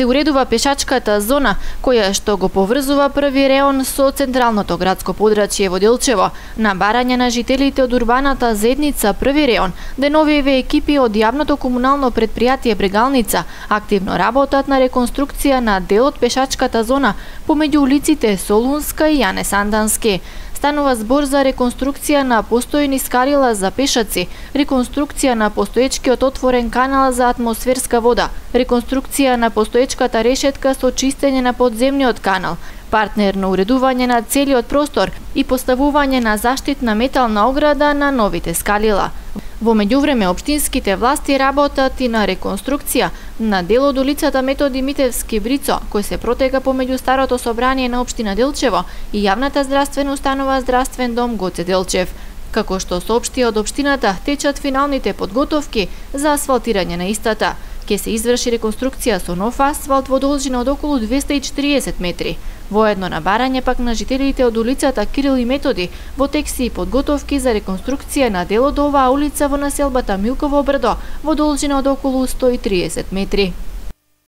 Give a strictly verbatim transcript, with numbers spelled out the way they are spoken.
се уредува пешачката зона, која што го поврзува први реон со централното градско подрачје во Делчево. На барање на жителите од урбаната заедница први реон, деновиве екипи од јавното комунално предпријатие Брегалница активно работат на реконструкција на дел од пешачката зона помеѓу улиците Солунска и Јане Сандански. Станува збор за реконструкција на постојни скалила за пешаци, реконструкција на постоечкиот отворен канал за атмосферска вода, реконструкција на постоечката решетка со чистење на подземниот канал, партнерно уредување на целиот простор и поставување на заштитна метална ограда на новите скалила. Во меѓувреме, општинските власти работат и на реконструкција на дел од улицата Методи Митевски Брицо, кој се протега помеѓу старото собрание на општина Делчево и јавната здравствена установа Здравствен дом Гоце Делчев. Како што соопшти од општината, течат финалните подготовки за асфалтирање на истата. Ке се изврши реконструкција со нов асфалт во должина од околу двесте и четириесет метри. Воедно на барање пак на жителите од улицата Кирил и Методи во тек се и подготовки за реконструкција на дел од оваа улица во населбата Милково брдо во должина од околу сто и триесет метри.